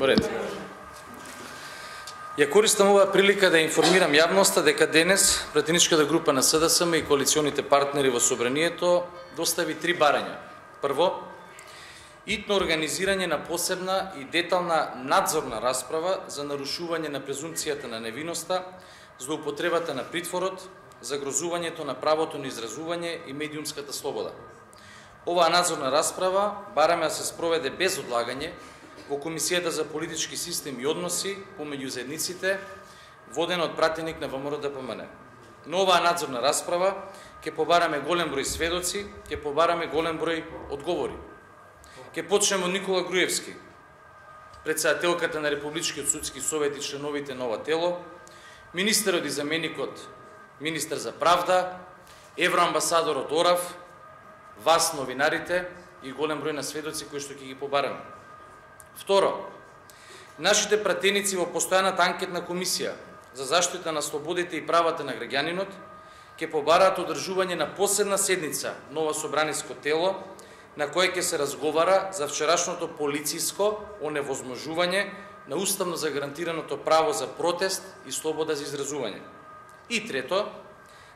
Морете. Ја користам оваа прилика да информирам јавноста дека денес пратеничката група на СДСМ и коалиционите партнери во Собранието достави 3 барања. Прво, итно организирање на посебна и детална надзорна расправа за нарушување на презумпцијата на невиноста, злоупотребата на притворот, загрозувањето на правото на изразување и медиумската слобода. Оваа надзорна расправа бараме да се спроведе без одлагање во Комисијата за политички систем и односи помеѓу заедниците, водена од пратеник на ВМРО-ДПМН. Но оваа надзорна расправа ќе побараме голем број сведоци, ќе побараме голем број одговори. Ќе почнеме од Никола Груевски, претседателката на Републичкиот судски совет и членовите на ова тело, министерот и заменикот министер за правда, евроамбасадорот Орав, вас новинарите и голем број на сведоци кои што ќе ги побараме. Второ, нашите пратеници во постојаната анкетна комисија за заштита на слободите и правата на граѓанинот ќе побараат одржување на посебна седница нова собраниско тело на која ќе се разговара за вчерашното полициско оневозможување на уставно загарантираното право за протест и слобода за изразување. И трето,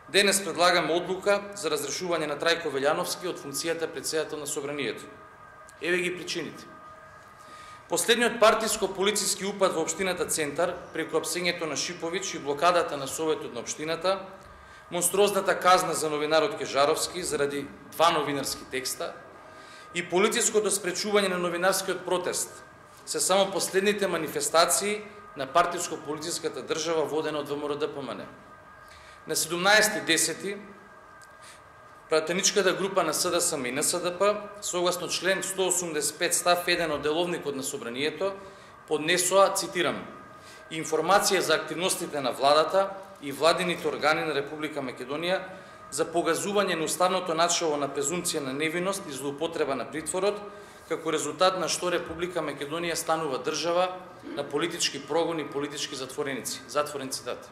денес предлагаме одлука за разрешување на Трајко Велјановски од функцијата претседател на Собранието. Еве ги причините. Последниот партиско-полициски упад во општината Центар преку апсењето на Шиповиќ и блокадата на Советот на општината, монструозната казна за новинарот Кежаровски заради 2 новинарски текста и полициското спречување на новинарскиот протест се само последните манифестации на партиско-полициската држава водена од ВМРО-ДПМН. На 17.10. пратеничката група на СДСМ и НСДП, согласно член 185 став 1 од деловникот на Собранието, поднесоа, цитирам, информација за активностите на владата и владините органи на Република Македонија за погазување на уставното начало на презумпција на невиност и злоупотреба на притворот, како резултат на што Република Македонија станува држава на политички прогон и политички затвореници. Затворен цитат.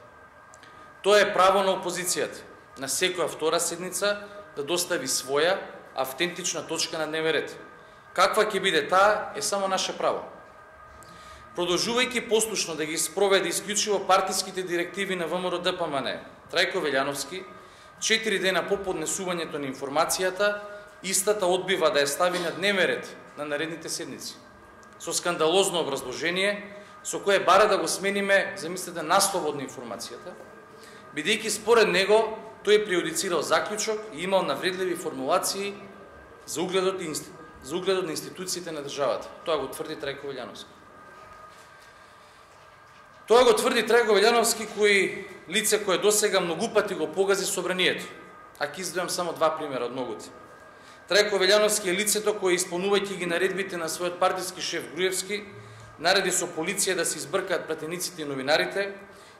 Тоа е право на опозицијата на секоја втора седница да достави своја автентична точка на дневен ред. Каква ќе биде таа е само наше право. Продолжувајќи послушно да ги спроведе исклучиво партиските директиви на ВМРО-ДПМН, Трајко Велјановски, 4 дена по поднесувањето на информацијата, истата одбива да ја стави на дневен ред на наредните седници. Со скандалозно образложение, со кое бара да го смениме, замислете, насловот на информацијата, бидејќи според него тој преюдицирал заклучок и имал навредливи формулации за угледот на институциите на државата. Тоа го тврди Трајко Велјановски. Тоа го тврди Трајко Велјановски, лице кое досега многу пати го погази Собранието. А ќе издвојам само 2 примера од многуте. Трајко Велјановски е лицето кое, исполнувајќи ги наредбите на својот партиски шеф Груевски, нареди со полиција да се избркаат пратениците и новинарите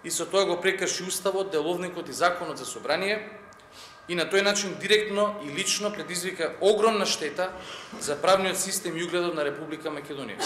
и со тоа го прекрши уставот, деловникот и законот за собрание и на тој начин директно и лично предизвика огромна штета за правниот систем и угледот на Република Македонија.